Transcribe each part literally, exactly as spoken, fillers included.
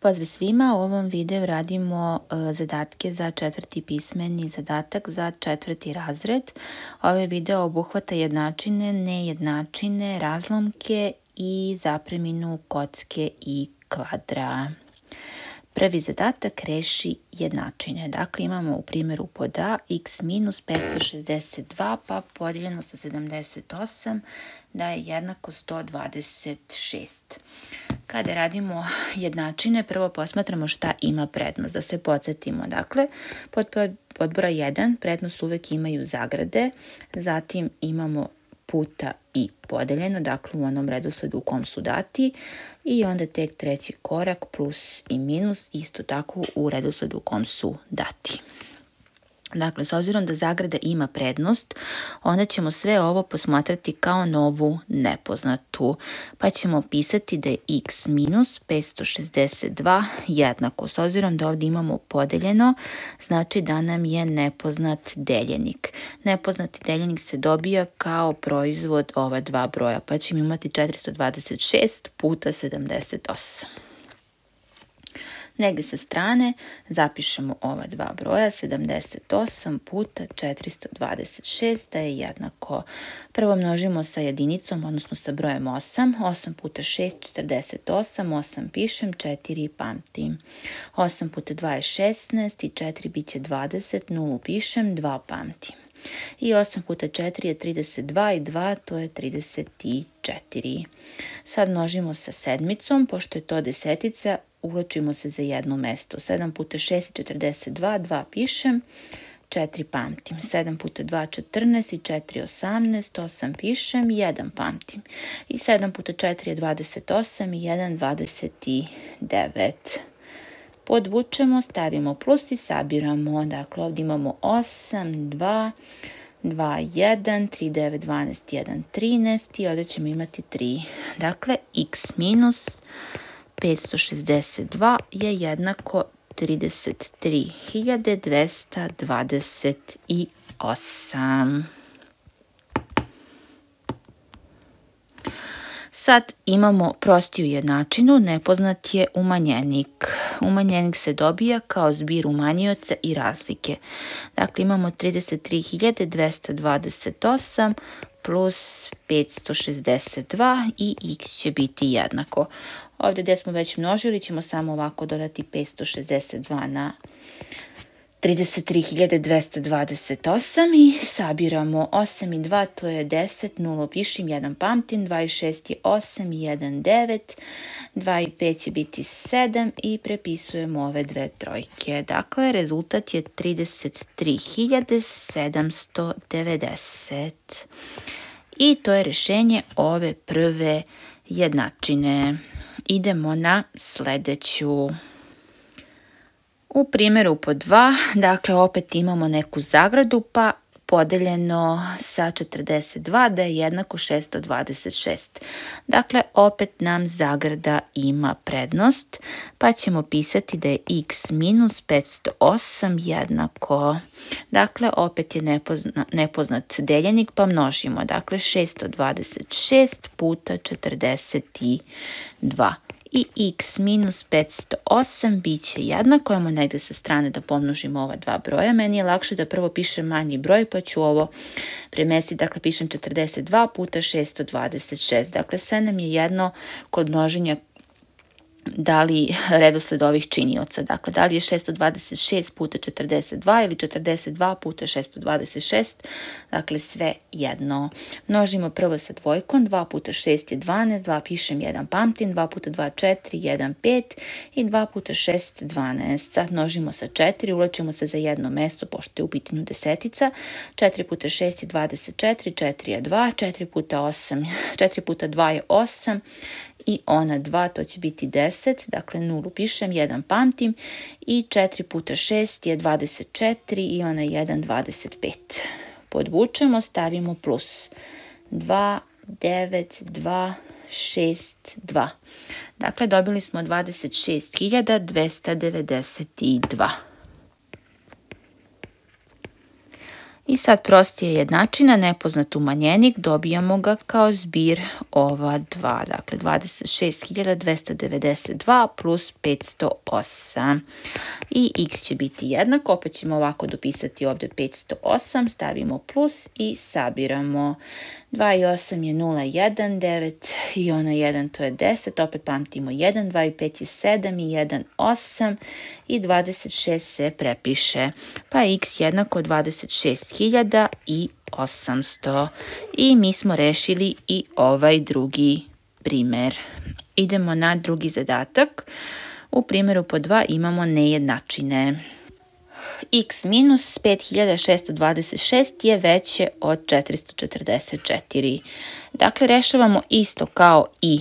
Pozdrav svima, u ovom videu radimo uh, zadatke za četvrti pismeni zadatak za četvrti razred. Ovaj video obuhvata jednačine, nejednačine, razlomke i zapreminu kocke i kvadra. Prvi zadatak reši jednačine. Dakle, imamo u primjeru pod A x minus petsto šezdeset dva pa podijeljeno sa sedamdeset osam da je jednako sto dvadeset šest. Kada radimo jednačine, prvo posmatramo šta ima prednost. Da se podsjetimo, dakle, pod, pod broj jedan prednost uvek imaju zagrade, zatim imamo puta i podeljeno, dakle u onom redosledu u kom su dati, i onda tek treći korak plus i minus, isto tako u redosledu u kom su dati. Dakle, s obzirom da zagrada ima prednost, onda ćemo sve ovo posmatrati kao novu nepoznatu. Pa ćemo pisati da je x minus petsto šezdeset dva jednako. S obzirom da ovdje imamo podeljeno, znači da nam je nepoznat deljenik. Nepoznati deljenik se dobija kao proizvod ova dva broja, pa ćemo imati četiristo dvadeset šest puta sedamdeset osam. Negdje sa strane zapišemo ova dva broja, sedamdeset osam puta četiristo dvadeset šest da je jednako. Prvo množimo sa jedinicom, odnosno sa brojem osam. osam puta šest, četrdeset osam, osam pišem, četiri pamtim. osam puta dva je šesnaest i četiri bit će dvadeset, nulu pišem, dva pamtim. I osam puta četiri je trideset dva i dva, to je trideset četiri. Sad množimo sa sedmicom, pošto je to desetica, uvlačimo se za jedno mesto. sedam puta šest je četrdeset dva, dva pišem, četiri pamtim. sedam puta dva je četrnaest i četiri je osamnaest, osam pišem, jedan pamtim. I sedam puta četiri je dvadeset osam i jedan dvadeset devet. Podvučemo, stavimo plus i sabiramo. Dakle, ovdje imamo osam, dva, dva, jedan, tri, devet, dvanaest, jedan, trinaest i ovdje ćemo imati tri. Dakle, x minus petsto šezdeset dva je jednako trideset tri hiljade dvesta dvadeset osam. Sad imamo prostiju jednačinu, nepoznat je umanjenik. Umanjenik se dobija kao zbir umanjioca i razlike. Dakle, imamo trideset tri hiljade dvesta dvadeset osam plus petsto šezdeset dva i x će biti jednako. Ovdje gdje smo već množili ćemo samo ovako dodati petsto šezdeset dva na trideset tri hiljade dvesta dvadeset osam i sabiramo osam i dva, to je deset, nula pišem, jedan pamtim, dva i šest je osam i jedan devet, dva i pet će biti sedam i prepisujemo ove dve trojke. Dakle, rezultat je trideset tri hiljade sedamsto devedeset. I to je rješenje ove prve jednačine. Idemo na sljedeću. U primjeru pod dva, dakle opet imamo neku zagradu pa podeljeno sa četrdeset dva da je jednako šesto dvadeset šest. Dakle, opet nam zagrada ima prednost pa ćemo pisati da je x minus petsto osam jednako. Dakle, opet je nepozna, nepoznat deljenik pa množimo. Dakle, šesto dvadeset šest puta četrdeset dva. I x minus petsto osam bit će jednako, ajmo negdje sa strane da pomnožimo ova dva broja. Meni je lakše da prvo pišem manji broj pa ću ovo premestiti, dakle pišem četrdeset dva puta šesto dvadeset šest. Dakle, sve nam je jedno kod množenja da li redosled ovih činioca. Dakle, da li je šesto dvadeset šest puta četrdeset dva ili četrdeset dva puta šesto dvadeset šest. Dakle, sve jedno. Množimo prvo sa dvojkom. dva puta šest je dvanaest, dva pišem, jedan pamtim, dva puta dva četiri, jedan pet i dva puta šest dvanaest. Sad množimo sa četiri, uvlačimo se za jedno mesto, pošto je u pitanju desetica. četiri puta šest je dvadeset četiri, četiri je dva, četiri puta osam, četiri puta dva je osam, i ona dva, to će biti deset, dakle nulu pišem, jedan pamtim i četiri puta šest je dvadeset četiri i ona jedan dvadeset pet. Podvučemo, stavimo plus dva, devet, dva, šest, dva. Dakle, dobili smo dvadeset šest hiljada dvesta devedeset dva. I sad prostija jednačina, nepoznat umanjenik, dobijamo ga kao zbir ova dva, dakle dvadeset šest hiljada dvesta devedeset dva plus petsto osam. I x će biti jednako, opet ćemo ovako dopisati ovde petsto osam, stavimo plus i sabiramo. dva i osam je nula, jedan, devet i ona jedan, to je deset, opet pamtimo jedan, dva i pet je sedam i jedan, osam i dvadeset šest se prepiše. Pa je x jednako dvadeset šest hiljada i osamsto. I mi smo rešili i ovaj drugi primer. Idemo na drugi zadatak. U primjeru po dva imamo nejednačine. X minus pet hiljada šesto dvadeset šest je veće od četiristo četrdeset četiri. Dakle, rešavamo isto kao i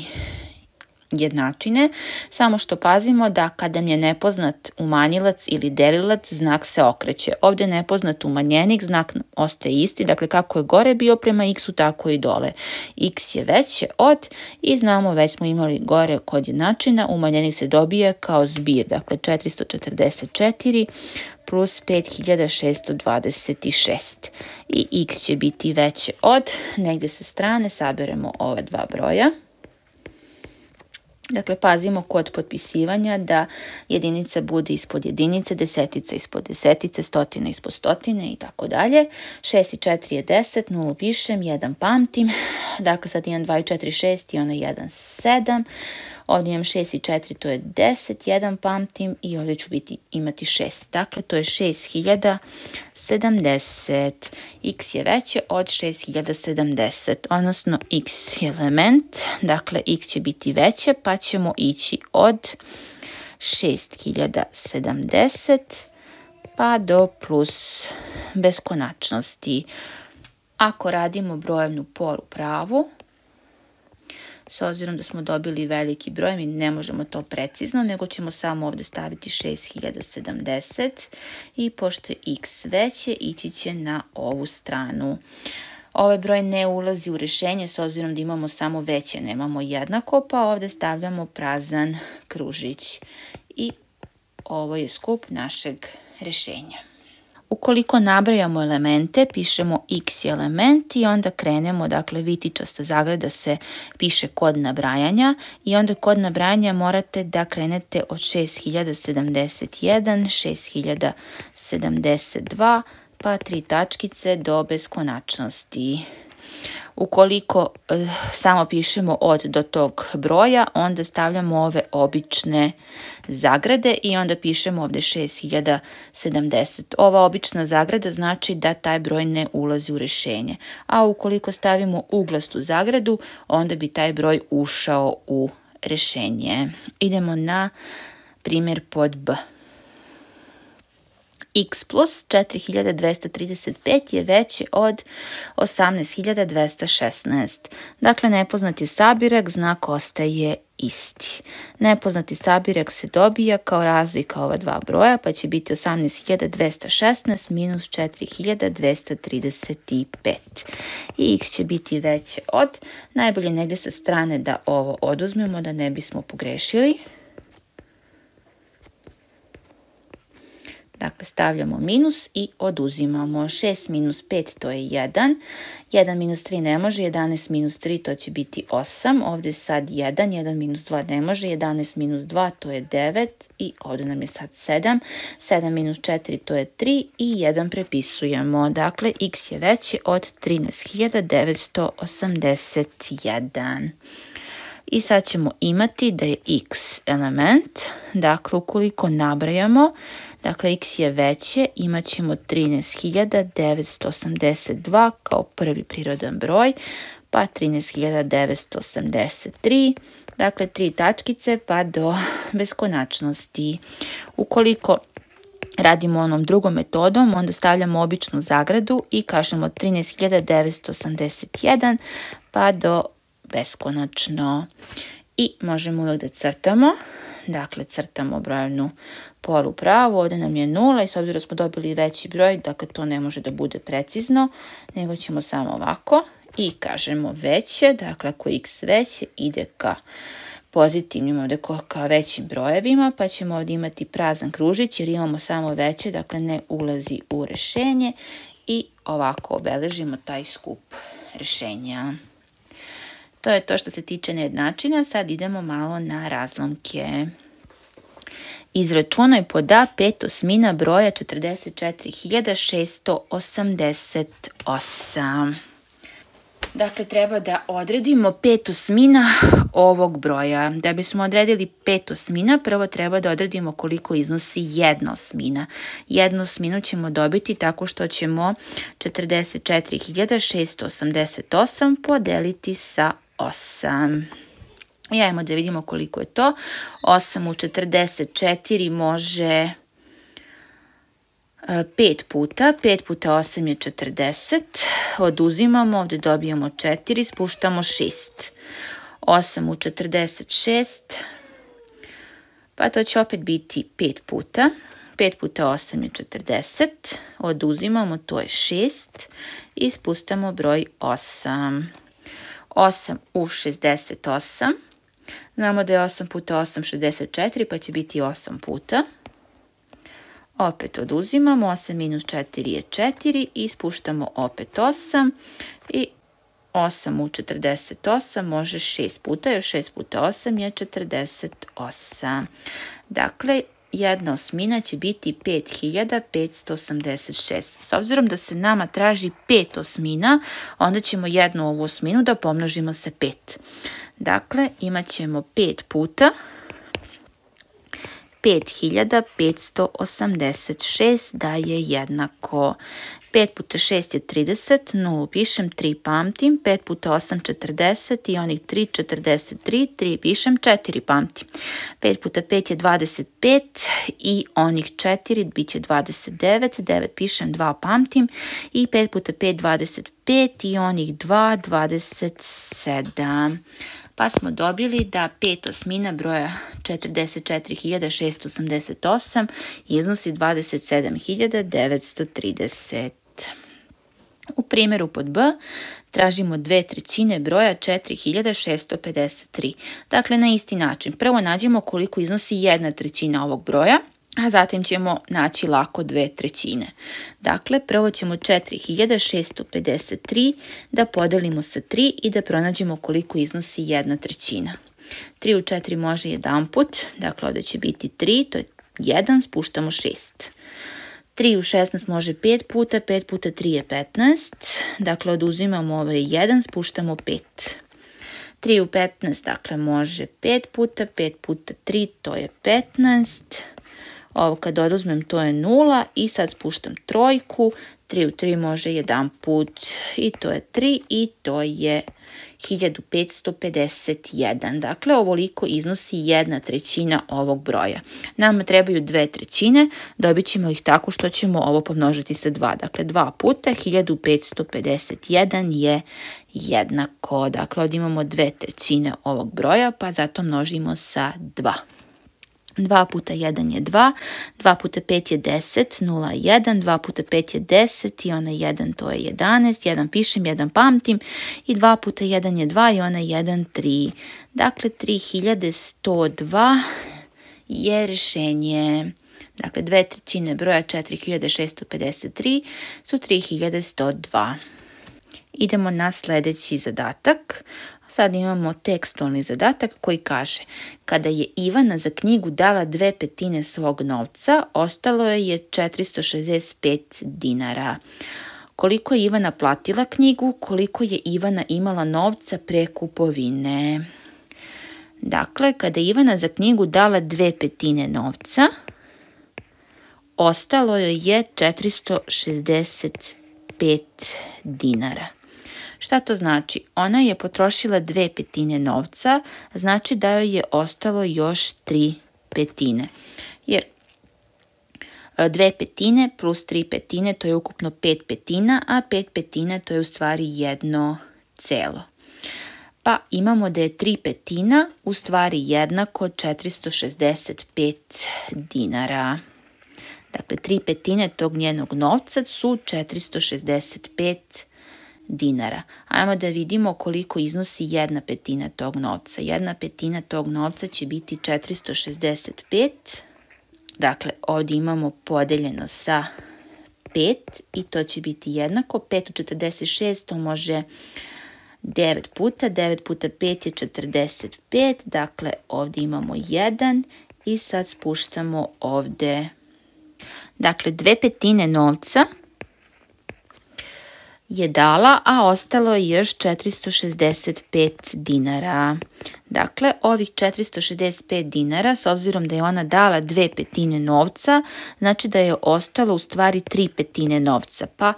jednačine, samo što pazimo da kada mi je nepoznat umanjilac ili delilac, znak se okreće. Ovdje je nepoznat umanjenik, znak ostaje isti, dakle kako je gore bio prema x-u, tako i dole. X je veće od i znamo, već smo imali gore kod jednačina, umanjenik se dobije kao zbir, dakle četiristo četrdeset četiri plus pet hiljada šesto dvadeset šest. I x će biti veće od, negdje sa strane saberemo ova dva broja. Dakle, pazimo kod potpisivanja da jedinica bude ispod jedinice, desetica ispod desetice, stotina ispod stotine i tako dalje. šest i četiri je deset, nulu pišem, jedan pamtim. Dakle, sad imam dva i četiri, šest i ona jedan, sedam. Ovdje imam šest i četiri, to je deset, jedan pamtim i ovdje ću biti, imati šest. Dakle, to je šest hiljada sedamdeset. X je veće od šest hiljada sedamdeset, odnosno x je element, dakle x će biti veće, pa ćemo ići od šest hiljada sedamdeset pa do plus beskonačnosti. Ako radimo brojevnu poru pravu, s obzirom da smo dobili veliki broj, mi ne možemo to precizno, nego ćemo samo ovdje staviti šest hiljada sedamdeset i pošto je x veće, ići će na ovu stranu. Ovaj broj ne ulazi u rješenje s obzirom da imamo samo veće, nemamo jednako, pa ovdje stavljamo prazan kružić. I ovo je skup našeg rješenja. Ukoliko nabrajamo elemente, pišemo x je element i onda krenemo, dakle vitičasta zagrada se piše kod nabrajanja i onda kod nabrajanja morate da krenete od šest hiljada sedamdeset jedan, šest hiljada sedamdeset dva, pa tri tačkice do beskonačnosti. Ukoliko e, samo pišemo od do tog broja, onda stavljamo ove obične zagrade i onda pišemo ovdje šest hiljada sedamdeset. Ova obična zagrada znači da taj broj ne ulazi u rješenje. A ukoliko stavimo uglastu zagradu, onda bi taj broj ušao u rješenje. Idemo na primjer pod B. X plus četiri hiljade dvesta trideset pet je veće od osamnaest hiljada dvesta šesnaest. Dakle, nepoznati sabirak, znak ostaje isti. Nepoznati sabirak se dobija kao razlika ova dva broja, pa će biti osamnaest hiljada dvesta šesnaest minus četiri hiljade dvesta trideset pet. I x će biti veće od, najbolje negdje sa strane da ovo oduzmemo, da ne bismo pogrešili. Dakle, stavljamo minus i oduzimamo. šest minus pet, to je jedan. jedan minus tri ne može, jedanaest minus tri, to će biti osam. Ovdje sad jedan, jedan minus dva ne može, jedanaest minus dva, to je devet. I ovdje nam je sad sedam. sedam minus četiri, to je tri i jedan prepisujemo. Dakle, x je veće od trinaest hiljada devetsto osamdeset jedan. I sad ćemo imati da je x element, dakle ukoliko nabrajamo, dakle x je veće, imat ćemo trinaest hiljada devetsto osamdeset dva kao prvi prirodan broj, pa trinaest hiljada devetsto osamdeset tri, dakle tri tačkice pa do beskonačnosti. Ukoliko radimo onom drugom metodom, onda stavljamo običnu zagradu i kažemo trinaest hiljada devetsto osamdeset jedan pa do beskonačno. I možemo uvijek da crtamo, dakle crtamo brojevnu poru pravu, ovdje nam je nula i s obzirom da smo dobili veći broj, dakle to ne može da bude precizno, nego ćemo samo ovako i kažemo veće, dakle ako je x veće ide ka pozitivnim ovdje ka većim brojevima, pa ćemo ovdje imati prazan kružić jer imamo samo veće, dakle ne ulazi u rješenje i ovako obeležimo taj skup rešenja. To je to što se tiče nejednačina. Sad idemo malo na razlomke. Izračunaj pod A pet osmina broja četrdeset četiri hiljade šesto osamdeset osam. Dakle, treba da odredimo pet osmina ovog broja. Da bismo odredili pet osmina, prvo treba da odredimo koliko iznosi jedna osmina. Jednu osminu ćemo dobiti tako što ćemo četrdeset četiri hiljade šesto osamdeset osam podeliti sa osam. I ajmo da vidimo koliko je to. osam u četrdeset četiri može pet puta. pet puta osam je četrdeset. Oduzimamo, ovdje dobijamo četiri, spuštamo šest. osam u četrdeset šest, pa to će opet biti pet puta. pet puta osam je četrdeset. Oduzimamo, to je šest. I spustamo broj osam. osam u šezdeset osam. Znamo da je osam puta osam šezdeset četiri, pa će biti osam puta. Opet oduzimamo, osam minus četiri je četiri i spuštamo opet osam. I osam u četrdeset osam može šest puta, jer šest puta osam je četrdeset osam. Dakle, jedna osmina će biti pet hiljada petsto osamdeset šest. S obzirom da se nama traži pet osmina, onda ćemo jednu ovu osminu da pomnožimo sa pet. Dakle, imat ćemo pet puta pet hiljada petsto osamdeset šest da je jednako. pet puta šest je trideset, nulu pišem, tri pamtim, pet puta osam četrdeset i onih tri četrdeset tri, tri pišem, četiri pamtim. pet puta pet je dvadeset pet i onih četiri bit će dvadeset devet, devet pišem, dva pamtim i pet puta pet dvadeset pet i onih dva dvadeset sedam. Pa smo dobili da pet osmina broja četrdeset četiri hiljade šesto osamdeset osam iznosi dvadeset sedam hiljada devetsto trideset. U primjeru pod B tražimo dve trećine broja četiri hiljade šesto pedeset tri. Dakle, na isti način. Prvo nađemo koliko iznosi jedna trećina ovog broja, a zatim ćemo naći lako dve trećine. Dakle, prvo ćemo četiri hiljade šesto pedeset tri da podelimo sa tri i da pronađemo koliko iznosi jedna trećina. tri u četiri može jedan put, dakle ovdje će biti tri, to je jedan, spuštamo šest. tri u šesnaest može pet puta, pet puta tri je petnaest, dakle oduzimamo ovaj jedan, spuštamo pet. tri u petnaest, dakle može pet puta, pet puta tri, to je petnaest. Ovo kad oduzmem to je nula i sad spuštam trojku, tri u tri može jedan put i to je tri i to je hiljadu petsto pedeset jedan. Dakle, ovoliko iznosi jedna trećina ovog broja. Nama trebaju dve trećine, dobit ćemo ih tako što ćemo ovo pomnožiti sa dva. Dakle, dva puta hiljadu petsto pedeset jedan je jednako. Dakle, ovdje imamo dve trećine ovog broja, pa zato množimo sa dva. dva puta jedan je dva, dva puta pet je deset, nula je jedan, dva puta pet je deset i onaj jedan to je jedanaest, jedan pišem, jedan pamtim i dva puta jedan je dva i onaj jedan tri. Dakle, tri hiljade sto dva je rešenje. Dakle, dve trećine broja četiri hiljade šesto pedeset tri su tri hiljade sto dva. Idemo na sljedeći zadatak. Sad imamo tekstualni zadatak koji kaže: kada je Ivana za knjigu dala dve petine svog novca, ostalo je četiristo šezdeset pet dinara. Koliko je Ivana platila knjigu, koliko je Ivana imala novca pre kupovine. Dakle, kada je Ivana za knjigu dala dve petine novca, ostalo joj je četiristo šezdeset pet dinara. Šta to znači? Ona je potrošila dve petine novca, znači da joj je ostalo još tri petine. Jer dve petine plus tri petine to je ukupno pet petina, a pet petina to je u stvari jedno celo. Pa imamo da je tri petina u stvari jednako četiristo šezdeset pet dinara. Dakle, tri petine tog njenog novca su četiristo šezdeset pet dinara. Ajmo da vidimo koliko iznosi jedna petina tog novca. Jedna petina tog novca će biti četiristo šezdeset pet. Dakle, ovdje imamo podeljeno sa pet i to će biti jednako. pet u četrdeset šest to može devet puta. devet puta pet je četrdeset pet. Dakle, ovdje imamo jedan i sad spuštamo ovdje. Dakle, dve petine novca je dala, a ostalo je još četiristo šezdeset pet dinara. Dakle, ovih četiristo šezdeset pet dinara, s obzirom da je ona dala dve petine novca, znači da je ostalo u stvari tri petine novca. Pa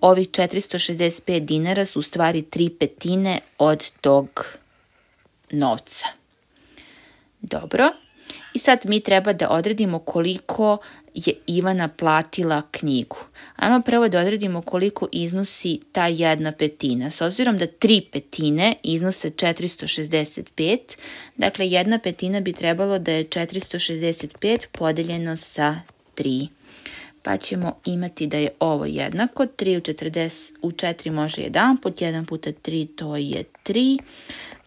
ovih četiristo šezdeset pet dinara su u stvari tri petine od tog novca. Dobro. I sad mi treba da odredimo koliko je Ivana platila knjigu. Ajmo prvo da odredimo koliko iznosi ta jedna petina. S obzirom da tri petine iznose četiristo šezdeset pet, dakle jedna petina bi trebalo da je četiristo šezdeset pet podeljeno sa tri. Pa ćemo imati da je ovo jednako. tri u četrdeset, u četiri može jedan put, jedan puta tri to je tri.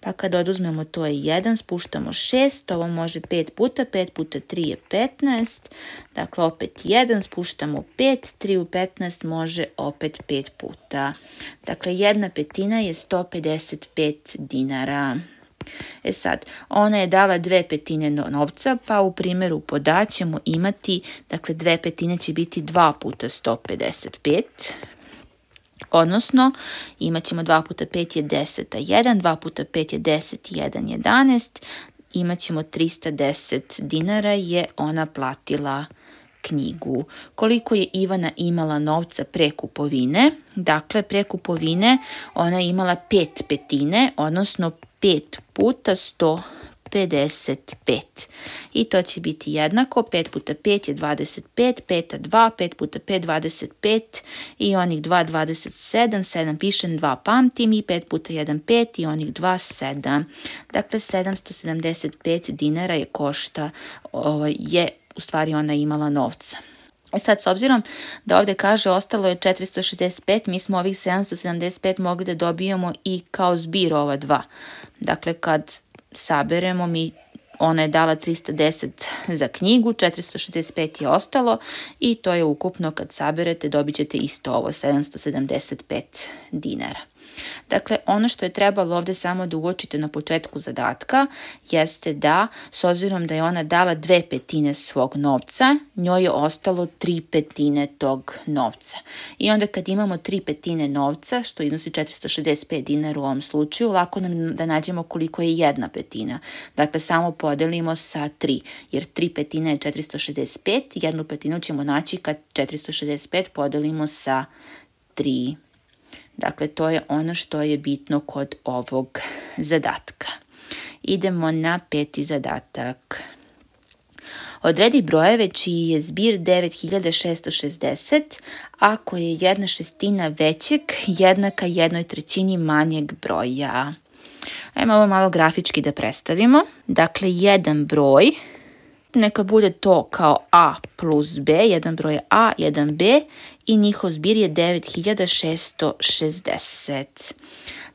Pa kad oduzmemo to je jedan, spuštamo šest, ovo može pet puta, pet puta tri je petnaest, dakle opet jedan, spuštamo pet, tri u petnaest može opet pet puta. Dakle, jedna petina je sto pedeset pet dinara. E sad, ona je dala dve petine novca, pa u primjeru poda ćemo imati, dakle dve petine će biti dva puta sto pedeset pet. Odnosno, imat ćemo dva puta pet je deset, a jedan, dva puta pet je deset, jedan, jedanaest, imat ćemo trista deset dinara je ona platila knjigu. Koliko je Ivana imala novca pre kupovine? Dakle, pre kupovine ona je imala pet petine, odnosno pet puta sto pedeset pet. I to će biti jednako, pet puta pet je dvadeset pet, peta dva, pet puta pet dvadeset pet i onih dva dvadeset sedam, sedam pišem, dva pamtim i pet puta jedan pet i onih dva sedam. Dakle, sedamsto sedamdeset pet dinara je košta, je u stvari ona imala novca. E sad, s obzirom da ovdje kaže ostalo je četiristo šezdeset pet, mi smo ovih sedamsto sedamdeset pet mogli da dobijemo i kao zbir ova dva. Dakle, kad saberemo, mi, ona je dala trista deset za knjigu, četiristo šezdeset pet je ostalo i to je ukupno kad saberete dobit ćete isto ovo, sedamsto sedamdeset pet dinara. Dakle, ono što je trebalo ovdje samo da uočite na početku zadatka jeste da, s obzirom da je ona dala dve petine svog novca, njoj je ostalo tri petine tog novca. I onda kad imamo tri petine novca, što iznosi četiristo šezdeset pet dinara u ovom slučaju, lako nam da nađemo koliko je jedna petina. Dakle, samo podelimo sa tri, jer tri petine je četiristo šezdeset pet, jednu petinu ćemo naći kad četiristo šezdeset pet podelimo sa tri. Dakle, to je ono što je bitno kod ovog zadatka. Idemo na peti zadatak. Odredi brojeve čiji je zbir devet hiljada šesto šezdeset, ako je jedna šestina većeg jednaka jednoj trećini manjeg broja. Ajmo ovo malo grafički da predstavimo. Dakle, jedan broj, neka bude to kao a plus b, jedan broj je a, jedan b i njihov zbir je devet hiljada šesto šezdeset.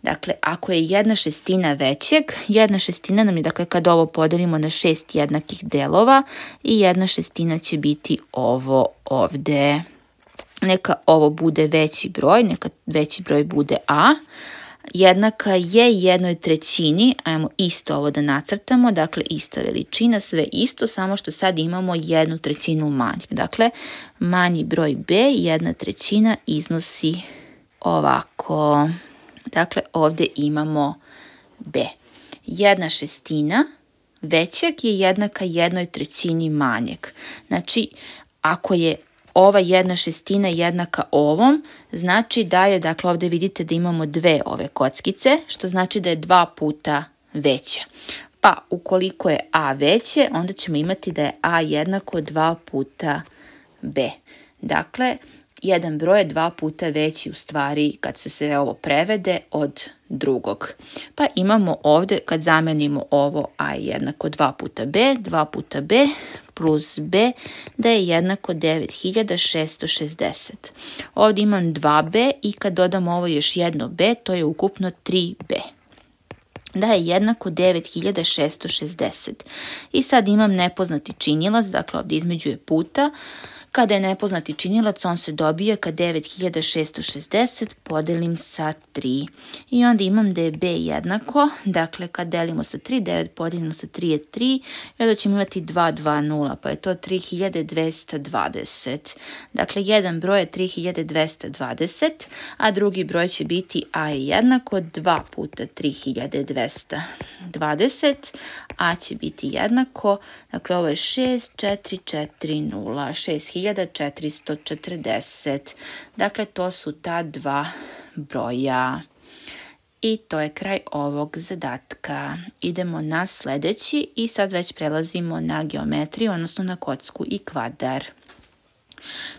Dakle, ako je jedna šestina većeg, jedna šestina nam je, dakle, kad ovo podelimo na šest jednakih delova i jedna šestina će biti ovo ovde. Neka ovo bude veći broj, neka veći broj bude a. Jednaka je jednoj trećini, ajmo isto ovo da nacrtamo, dakle ista veličina, sve isto, samo što sad imamo jednu trećinu manjeg. Dakle, manji broj b, jedna trećina iznosi ovako. Dakle, ovdje imamo b. Jedna šestina većeg je jednaka jednoj trećini manjeg. Znači, ako je ova jedna šestina jednaka ovom, znači da je, dakle ovdje vidite da imamo dve ove kockice, što znači da je dva puta veća. Pa ukoliko je a veće, onda ćemo imati da je a jednako dva puta b. Dakle, jedan broj je dva puta veći u stvari kad se sve ovo prevede od drugog. Pa imamo ovdje, kad zamenimo ovo a je jednako dva puta b, dva puta b plus b, da je jednako devet hiljada šesto šezdeset. Ovdje imam dva b i kad dodamo ovo još jedno b, to je ukupno tri b. Da je jednako devet hiljada šesto šezdeset. I sad imam nepoznati činilac, dakle ovdje između je puta. Kada je nepoznati činilac, on se dobija kad devet hiljada šesto šezdeset podelim sa tri. I onda imam da je b jednako, dakle kad delimo sa tri, devet podelimo sa tri je tri, i onda ćemo imati dva dvadeset, pa je to tri hiljade dvesta dvadeset. Dakle, jedan broj je tri hiljade dvesta dvadeset, a drugi broj će biti a je jednako dva puta tri hiljade dvesta dvadeset, a će biti jednako, dakle ovo je šest četiri četiri nula, šest hiljada četiristo četrdeset. Dakle, to su ta dva broja. I to je kraj ovog zadatka. Idemo na sljedeći i sad već prelazimo na geometriju, odnosno na kocku i kvadar.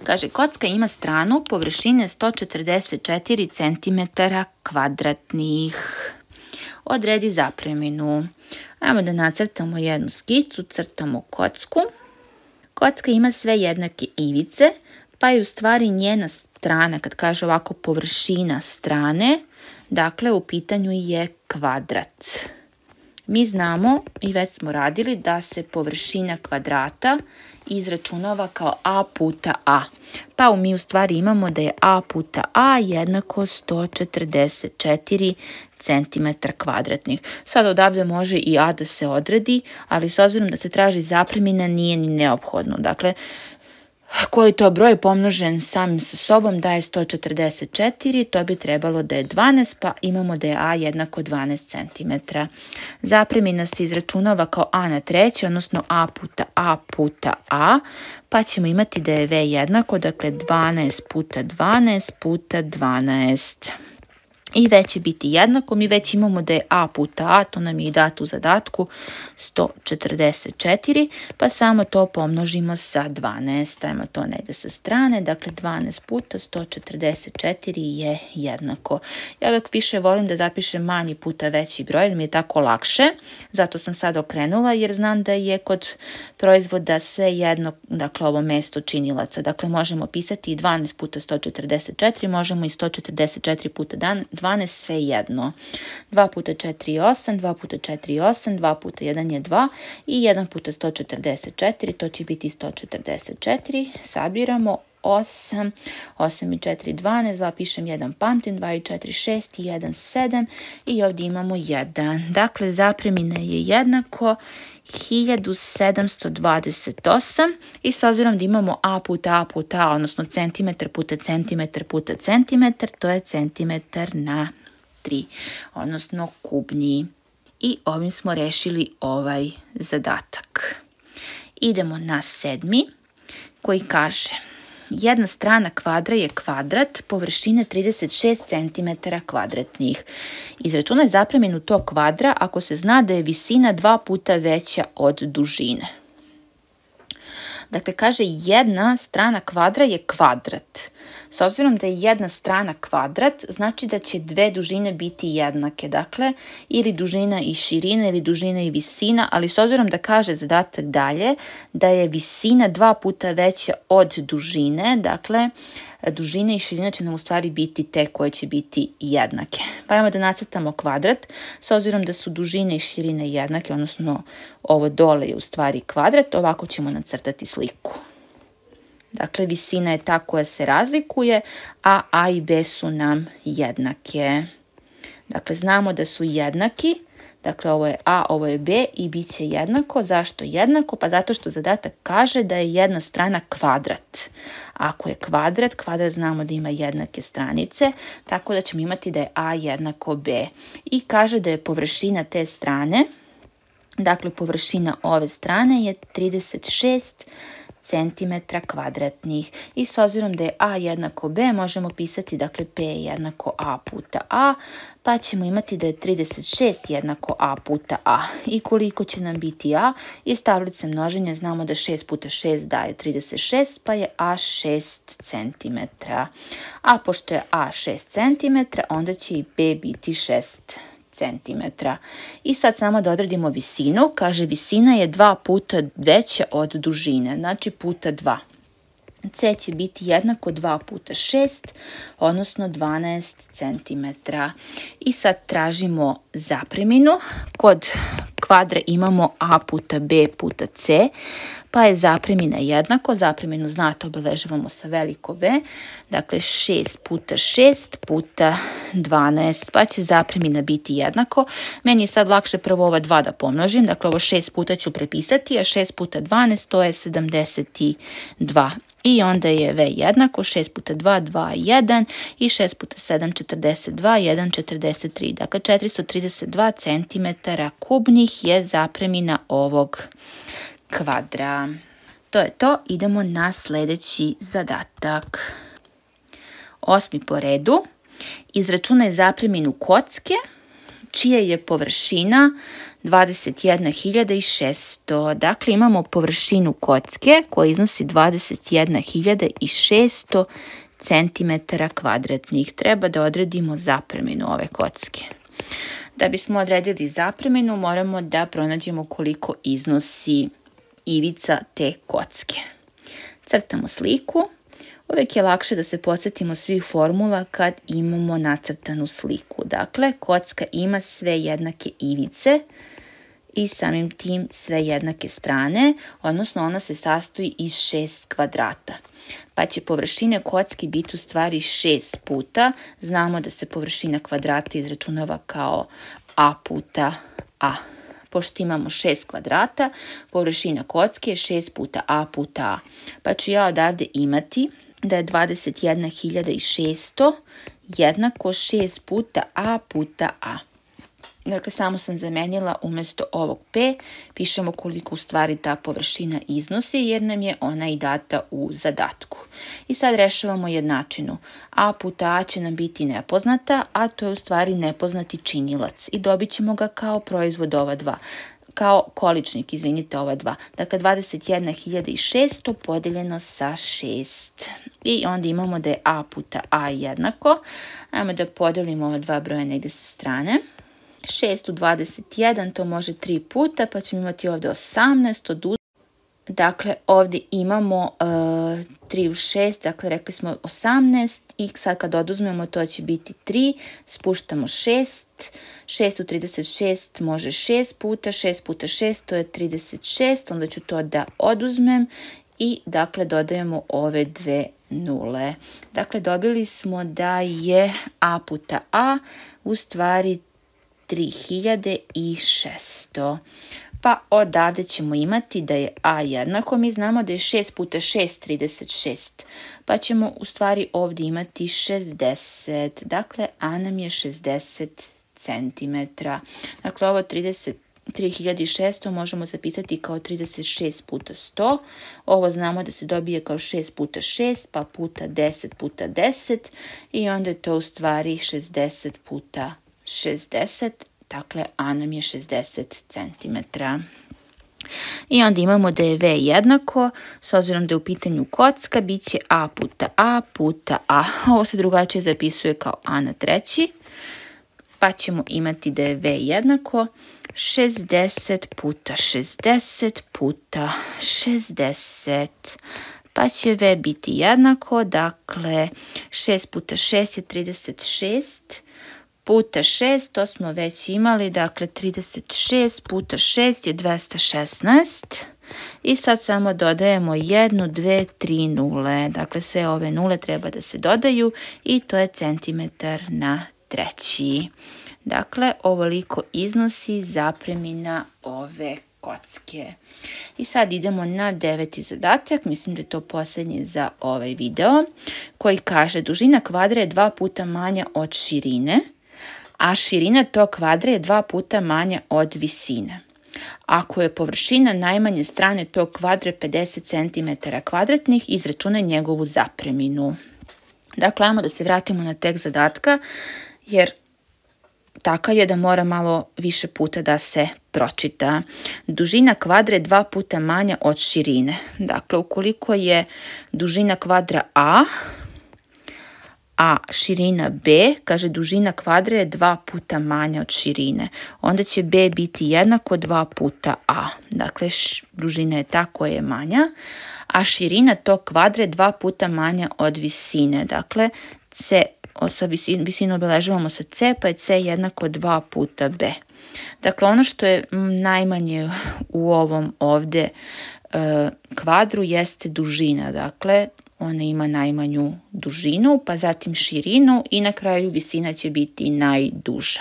Kaže, kocka ima stranu površine sto četrdeset četiri centimetara kvadratnih. Odredi zapreminu. Ajmo da nacrtamo jednu skicu, crtamo kocku. Kocka ima sve jednake ivice, pa je u stvari njena strana, kad kaže ovako površina strane, dakle u pitanju je kvadrat. Mi znamo i već smo radili da se površina kvadrata izračunava kao a puta a. Pa mi u stvari imamo da je a puta a jednako sto četrdeset četiri centimetra kvadratnih. Sad odavde može i a da se odredi, ali s obzirom da se traži zapremina nije ni neophodno. Dakle, koji to broj pomnožen samim sa sobom daje sto četrdeset četiri, to bi trebalo da je dvanaest, pa imamo da je a jednako dvanaest centimetara. Zapremina se izračunava kao a na treći, odnosno a puta a puta a, pa ćemo imati da je v jednako, dakle dvanaest puta dvanaest puta dvanaest. I već će biti jednako, mi već imamo da je a puta a, to nam je i dato u zadatku, sto četrdeset četiri, pa samo to pomnožimo sa dvanaest, ajmo to negde sa strane, dakle dvanaest puta sto četrdeset četiri je jednako. Ja uvijek više volim da zapišem manji puta veći broj, jer mi je tako lakše, zato sam sad okrenula, jer znam da je kod proizvoda sve jedno, dakle ovo mesto činilaca, dakle možemo pisati i dvanaest puta sto četrdeset četiri, možemo i sto četrdeset četiri puta dvanaest, sve jedno. dva puta četiri je osam, dva puta četiri je osam, dva puta jedan je dva i jedan puta sto četrdeset četiri, to će biti sto četrdeset četiri. Sabiramo osam, osam i četiri dvanaest, dva pišem jedan pamtim, dva i četiri šest i jedan sedam i ovdje imamo jedan. Dakle, zapremina je jednako hiljadu sedamsto dvadeset osam i s obzirom da imamo a puta a puta a, odnosno centimetar puta centimetar puta centimetar, to je centimetar na tri, odnosno kubni. I ovim smo rešili ovaj zadatak. Idemo na sedmi, koji kaže: jedna strana kvadra je kvadrat površine trideset šest centimetara kvadratnih. Izračunaj zapreminu tog kvadra ako se zna da je visina dva puta veća od dužine. Dakle, kaže jedna strana kvadra je kvadrat. S obzirom da je jedna strana kvadrat, znači da će dve dužine biti jednake. Dakle, ili dužina i širina ili dužina i visina, ali s obzirom da kaže zadatak dalje da je visina dva puta veća od dužine, dakle, dužina i širina će nam u stvari biti te koje će biti jednake. Pa ajmo da nacrtamo kvadrat. S obzirom da su dužine i širine jednake, odnosno ovo dole je u stvari kvadrat, ovako ćemo nacrtati sliku. Dakle, visina je ta koja se razlikuje, a a i b su nam jednake. Dakle, znamo da su jednaki. Dakle, ovo je a, ovo je b i bit će jednako. Zašto jednako? Pa zato što zadatak kaže da je jedna strana kvadrat. Ako je kvadrat, kvadrat znamo da ima jednake stranice, tako da ćemo imati da je a jednako b. I kaže da je površina te strane, dakle površina ove strane je trideset šest centimetara kvadratnih. I s obzirom da je a jednako b, možemo pisati, dakle, p jednako a puta a, pa ćemo imati da je trideset šest jednako a puta a. I koliko će nam biti a? Iz tablice množenja znamo da šest puta šest daje trideset šest, pa je a šest centimetara. A pošto je a šest centimetara, onda će i b biti šest centimetara. I sad samo da odredimo visinu. Kaže, visina je dva puta veća od dužine, znači puta dva. C će biti jednako dva puta šest, odnosno dvanaest centimetara. I sad tražimo zapreminu. Kod kvadra imamo A puta B puta C, pa je zapremina jednako. Zapreminu znate, obeležavamo sa veliko V. Dakle, šest puta šest puta dvanaest, pa će zapremina biti jednako. Meni je sad lakše prvo ova dva da pomnožim. Dakle, ovo šest puta ću prepisati, a šest puta dvanaest to je sedamdeset dva. I onda je V jednako šest puta dva, dva, jedan i šest puta sedam, četrdeset dva, jedan, četrdeset tri. Dakle, četiristo trideset dva centimetara kubnih je zapremina ovog kvadra. To je to, idemo na sljedeći zadatak. Osmi po redu. Izračunaj zapreminu kocke čija je površina dvadeset jedna hiljada šesto. Dakle, imamo površinu kocke koja iznosi dvadeset jedna hiljada šesto centimetara kvadratnih. Treba da odredimo zapreminu ove kocke. Da bismo odredili zapreminu, moramo da pronađemo koliko iznosi ivica te kocke. Crtamo sliku. Uvijek je lakše da se podsjetimo svih formula kad imamo nacrtanu sliku. Dakle, kocka ima sve jednake ivice i samim tim sve jednake strane, odnosno ona se sastoji iz šest kvadrata. Pa će površina kocki biti u stvari šest puta. Znamo da se površina kvadrata izračunava kao A puta A. Pošto imamo šest kvadrata, površina kocke je šest puta A puta A. Pa ću ja odavde imati da je dvadeset jedna hiljada šesto jednako šest puta A puta A. Dakle, samo sam zamenila umjesto ovog P, pišemo koliko u stvari ta površina iznosi, jer nam je ona i data u zadatku. I sad rešavamo jednačinu. A puta A će nam biti nepoznata, a to je u stvari nepoznati činilac. I dobit ćemo ga kao proizvod ova dva. Kao količnik, izvinite, ova dva. Dakle, dvadeset jedna hiljada šesto podeljeno sa šest. I onda imamo da je A puta A jednako. Ajmo da podelimo ova dva broja negdje sa strane. šest u dvadeset jedan, to može tri puta, pa ćemo imati ovdje osamnaest. Dakle, ovdje imamo uh, tri u šest, dakle rekli smo osamnaest i sad kad oduzmemo to će biti tri, spuštamo šest, šest u trideset šest može šest puta, šest puta šest to je trideset šest, onda ću to da oduzmem i dakle dodajemo ove dve nule. Dakle, dobili smo da je A puta A u stvari tri hiljade šesto. Pa odavde ćemo imati da je A jednako, mi znamo da je šest puta šest trideset šest, pa ćemo u stvari ovdje imati šezdeset, dakle A nam je šezdeset centimetara. Dakle, ovo trideset tri hiljade šesto možemo zapisati kao trideset šest puta sto, ovo znamo da se dobije kao šest puta šest, pa puta deset puta deset i onda je to u stvari šezdeset puta šezdeset, dakle A nam je šezdeset centimetara. I onda imamo da je V jednako, s obzirom da je u pitanju kocka, bit će A puta A puta A. Ovo se drugačije zapisuje kao A na treći, pa ćemo imati da je V jednako šezdeset puta šezdeset puta šezdeset. Pa će V biti jednako, dakle šest puta šest je trideset šest, puta šest, to smo već imali, dakle trideset šest puta šest je dvesta šesnaest. I sad samo dodajemo jednu, dve, tri nule. Dakle, sve ove nule treba da se dodaju i to je centimetar na treći. Dakle, ovoliko iznosi zapremina ove kocke. I sad idemo na deveti zadatak, mislim da je to posljednji za ovaj video, koji kaže dužina kvadra je dva puta manja od širine, a širina tog kvadra je dva puta manja od visine. Ako je površina najmanje strane tog kvadra pedeset centimetara kvadratnih, izračunaj njegovu zapreminu. Dakle, ajmo da se vratimo na tekst zadatka, jer takav je da mora malo više puta da se pročita. Dužina kvadra je dva puta manja od širine. Dakle, ukoliko je dužina kvadra A, a širina B, kaže dužina kvadra je dva puta manja od širine. Onda će B biti jednako dva puta A. Dakle, dužina je ta koja je manja. a širina tog kvadra je dva puta manja od visine. Dakle, C, sa visinu obeležavamo sa C, pa je C jednako dva puta B. Dakle, ono što je najmanje u ovom ovde kvadru jeste dužina. Dakle, ona ima najmanju dužinu, pa zatim širinu i na kraju visina će biti najduža.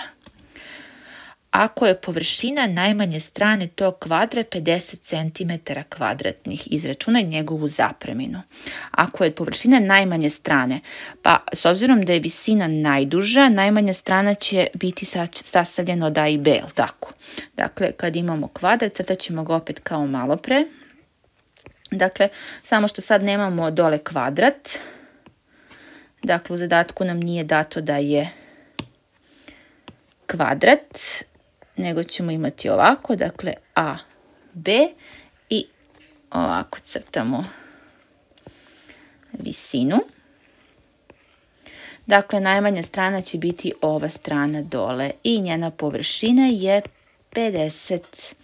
Ako je površina najmanje strane tog kvadra pedeset centimetara kvadratnih, izračunaj njegovu zapreminu. Ako je površina najmanje strane, pa s obzirom da je visina najduža, najmanja strana će biti sastavljena od A i B, je li tako? Dakle, kad imamo kvadrat, crtat ćemo ga opet kao malo pre. Dakle, samo što sad nemamo dole kvadrat. Dakle, u zadatku nam nije dato da je kvadrat, nego ćemo imati ovako, dakle A, B i ovako crtamo visinu. Dakle, najmanja strana će biti ova strana dole i njena površina je pedeset,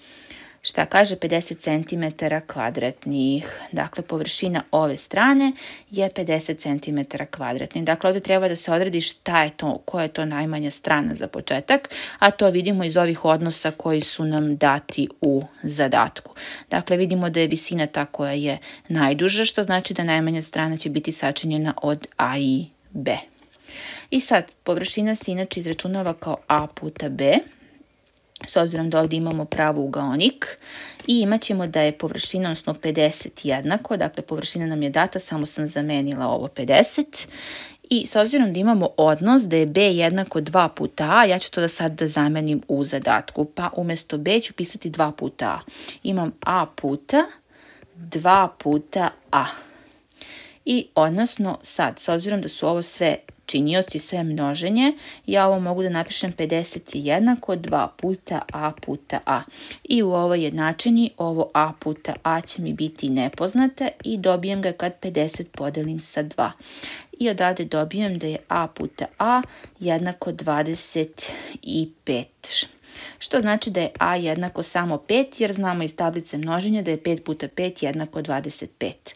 šta kaže, pedeset centimetara kvadratnih. Dakle, površina ove strane je pedeset centimetara kvadratnih. Dakle, ovdje treba da se odredi šta je to, koja je to najmanja strana za početak, a to vidimo iz ovih odnosa koji su nam dati u zadatku. Dakle, vidimo da je visina ta koja je najduža, što znači da najmanja strana će biti sačinjena od A i B. I sad, površina se inače izračunava kao A puta B, s obzirom da ovdje imamo pravougaonik i imat ćemo da je površina, odnosno pedeset jednako, dakle površina nam je data, samo sam zamenila ovo pedeset. I s obzirom da imamo odnos da je B jednako dva puta A, ja ću to da sad da zamenim u zadatku, pa umjesto B ću pisati dva puta A. Imam A puta dva puta A. I odnosno sad, s obzirom da su ovo sve činioci, sve množenje, ja ovo mogu da napišem pedeset je jednako dva puta A puta A. I u ovoj jednačini ovo A puta A će mi biti nepoznata i dobijem ga kad pedeset podelim sa dva. I odavde dobijem da je A puta A jednako dvadeset pet. Što znači da je A jednako samo pet, jer znamo iz tablice množenja da je pet puta pet jednako dvadeset pet.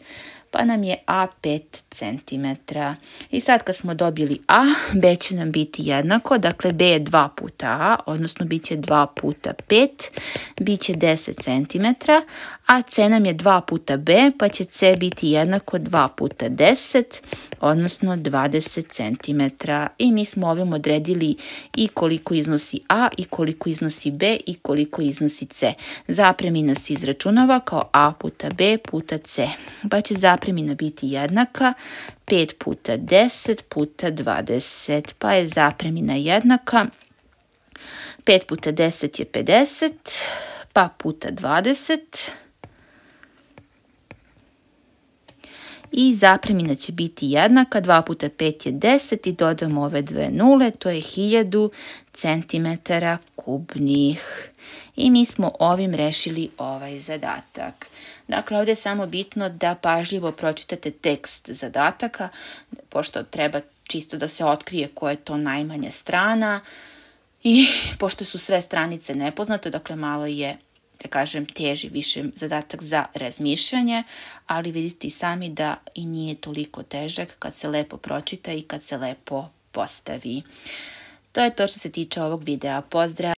Pa nam je A pet centimetara. I sad kad smo dobili A, B će nam biti jednako, dakle B je dva puta A, odnosno bit će dva puta pet, bit će deset centimetara, a C nam je dva puta B, pa će C biti jednako dva puta deset, odnosno dvadeset centimetara. I mi smo ovim odredili i koliko iznosi A, i koliko iznosi B, i koliko iznosi C. Zapremina se izračunava kao A puta B puta C, pa će zapremina biti jednaka pet puta deset puta dvadeset, pa je zapremina jednaka pet puta deset je pedeset, pa puta dvadeset. I zapremina će biti jednaka, dva puta pet je deset i dodamo ove dve nule, to je hiljadu centimetara kubnih. I mi smo ovim rešili ovaj zadatak. Dakle, ovdje je samo bitno da pažljivo pročitate tekst zadataka, pošto treba čisto da se otkrije koja je to najmanja strana i pošto su sve stranice nepoznate, dakle malo je, da kažem, teži više zadatak za razmišljanje, ali vidite i sami da i nije toliko težak kad se lepo pročita i kad se lepo postavi. To je to što se tiče ovog videa. Pozdrav!